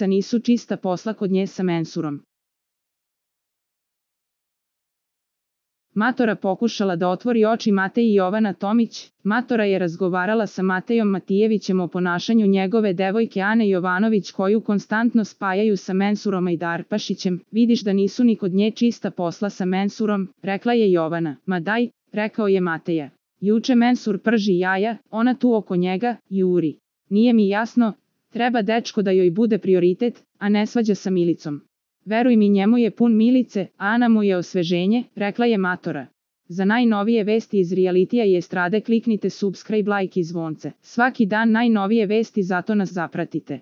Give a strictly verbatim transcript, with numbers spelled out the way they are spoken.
nisu čista posla kod nje sa mensurom. Matora pokušala da otvori oči Mateji i Jovana Tomić. Matora je razgovarala sa Matejom Matijevićem o ponašanju njegove devojke Ane Jovanović koju konstantno spajaju sa mensurom Ajdarpašićem. Vidiš da nisu ni kod nje čista posla sa mensurom, rekla je Jovana. Ma daj, rekao je Mateja. Juče mensur prži jaja, ona tu oko njega, juri. Nije mi jasno, treba dečko da joj bude prioritet, a ne svađa sa Milicom. Veruj mi, njemu je pun Milice, a Ana mu je osveženje, rekla je Matora. Za najnovije vesti iz realitija i estrade kliknite subscribe, like i zvonce. Svaki dan najnovije vesti, zato nas zapratite.